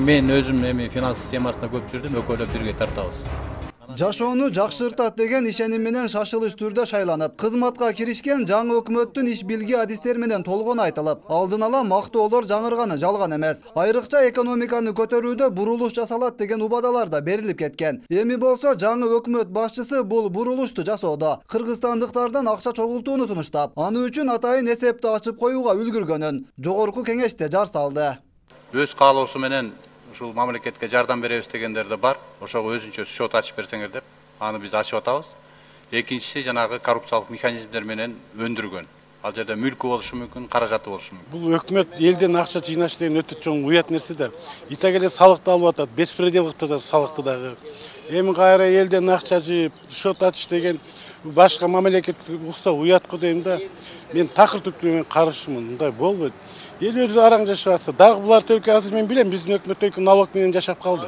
мен өзүм эми финанс системасына көп жүрдүм, экөөлөп бирге тартабыз. Жашоону жакшыртат деген ишеним менен шашылыш түрдө шайланып, кызматка киришкен жаңы өкмөттүн иш билги адистер менен толгон айтылып, алдын ала мактоолор жаңырганы жалган эмес. Айрыкча экономиканы көтөрүүдө бурулуш жасалат деген убадалар да берилип кеткен. Эми болсо жаңы өкмөт башчысы бул бурулушту жасоодо кыргызстандыктардан акча чогултууну сунуштап, аны үчүн атайын эсепти ачып коюуга үлгүргөнүн жогорку кеңеште жар салды. Өз каалоосу менен ушул мамлекетке жардам беребиз дегендер да бар. Ошого өзүнчө счет ачып берсеңер деп, аны биз ачып атабыз. Экинчиси жанагы коррупциялык механизмдер менен өндүргөн. Ал жерде мүлкү болушу мүмкүн, каражаты болушу мүмкүн. Бул өкмөт элден акча жыйнаш деген өтө чоң уят нерсе да. Итагеле салыкты алып атат, беспредел кылып салыкты дагы. Эми кайра элден акча жыйып, счет ачыш деген башка мамлекетке укса уятко дейм да. Мен такыр түптүү каршымын, мындай болбойт. Эл өзү араң жашап атса, дагы булар төлкө азыр мен билем, биздин өкмөт төлкө налог менен жашап калды.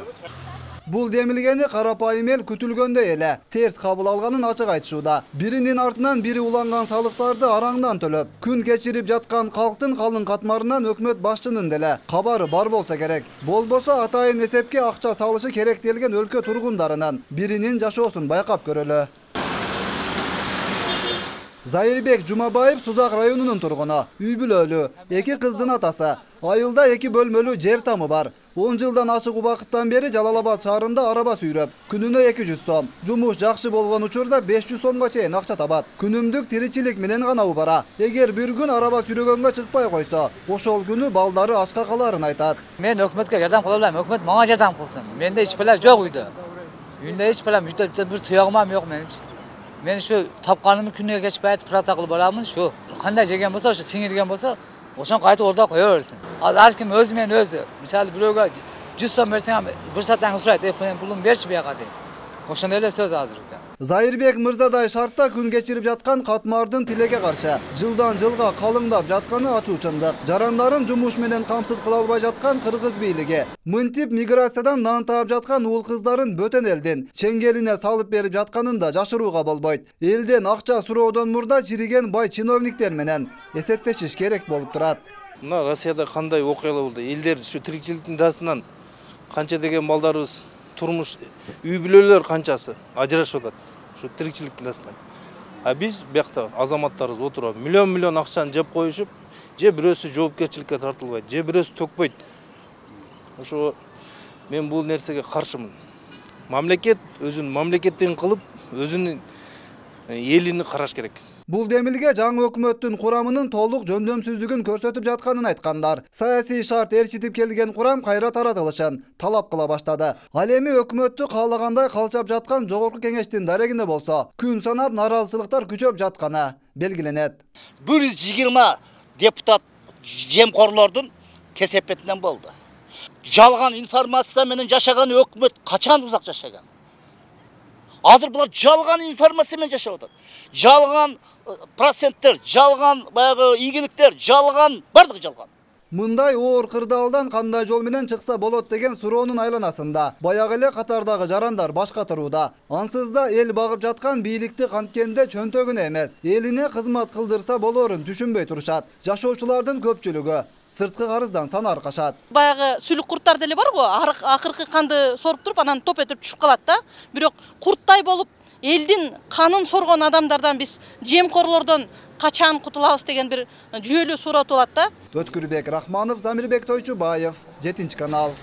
Бул демилгени карапайым эл күтүлгөндөй эле терс кабыл алганын ачык айтышууда. Биринин артынан бири уланган салыктарды араңдан төлөп, күн кечирип жаткан калктын калың катмарынан өкмөт башчынын деле кабары бар болсо керек. Болбосо атайын эсепке акча салышы керектелген өлкө тургундарынын биринин жашоосун байкап көрөлү. Зайырбек Жумабаев Сузак районунун тургуну, үй бүлөлүү, 2 кыздын атасы. Айылда 2 бөлмөлүү жер тамы бар. 10 жылдан ашык убакыттан бери Жалалабад шаарында араба сүйрөп, күнүнө 200 сом, жумуш жакшы болгон учурда 500 сомго чейин акча табат. Күнүмдүк тиричилик менен гана убара. Эгер бир күн араба сүйрөгөнгө чыкпай койсо, ошол күнү балдары ачка каларын айтат. Мен өкмөткө жардам кыла албайм, өкмөт мага жардам кылсын. Менде эч пала жок үйдө. Үйүндө эч пала бир туягым жок менин. Мен şu tapqanımı күнүгө кечпей прата кылып аламын, şu кандай жеген болсо, şu сиңирген болсо, ошон кайтып орда кое берсин. Ар ким өзү менен өзү. Мисалы бирөөгө 100 сом берсең, бир сааттан сурайт, мен пулумду берчи бияка дейт. Ошондой эле сөз азыркы. Зайырбек мырзадай шартта күн кечирип жаткан катмардын тилекке каршы жылдан жылга калыңдап жатканы ачуучундук. Жарандарын жумуш менен камсыз кыла албай жаткан кыргыз бийлиги, мынтип миграциядан нан таап жаткан уул кыздарын бөтөн элдин чеңгелине салып берип жатканын да жашырууга болбойт. Элден акча суроодон мурда чириген бай чиновниктер менен эсептешиш керек болуп турат. Мына Россияда кандай окуялар болду? Элдер ушу тирикчиликтин дасынан канча деген балдарыбыз турмуш үй бүлөлөр канчасы ажырашып атат. Şu tirikçilik дасынан. А биз бияқта азаматтарыбыз отуруп, миллион акчаны жеп коюшуп, же бирөөсү жоопкерчиликке тартылбайт, же бирөөсү төкпөйт. Ошо мен бул нерсеге каршымын. Мамлекет өзүн мамлекеттен кылып, өзүнүн элини караш керек. Бул демилге жаңы өкмөттүн курамынын толук жөндөмсүздүгүн көрсөтүп жатканын айткандар. Саясий шарт ээрчитип келген курам кайра таратылышын талап кыла баштады. Ал эми өкмөттү каалагандай калчап жаткан жогорку кеңештин дарегинде болсо, күн санап наразычылыктар күчөп жатканы белгиленет. 120 депутат жемкорлордун кесепетинен болду. Жалган информация менен жашаган өкмөт качан узак жашаган? Азыр булар жалган информация менен жашап атат. Жалган проценттер, жалган баягы ийгиликтер, жалган, бардыгы жалган. Мындай оор кырдаалдан кандай жол менен чыкса болот деген суроонун айланасында баягы эле катардагы жарандар баш катырууда. Ансыз да эл багып жаткан бийликти канткенде чөнтөгүнө эмес, элине кызмат кылдырса болорун түшүнбөй турушат. Жашоочулардын көпчүлүгү сырткы карыздан сан аркашат. Баягы сүлүк курттар деле бар го, акыркы канды соруп туруп анан топ этип түшүп калат да. Бирок курттай болуп элдин канын соргон адамдардан биз жемкорлордон качан кутулабыз деген бир жүйөлүү суроо туулат да. Өткүрбек Рахманов, Замирбек Тойчубаев, 7 канал.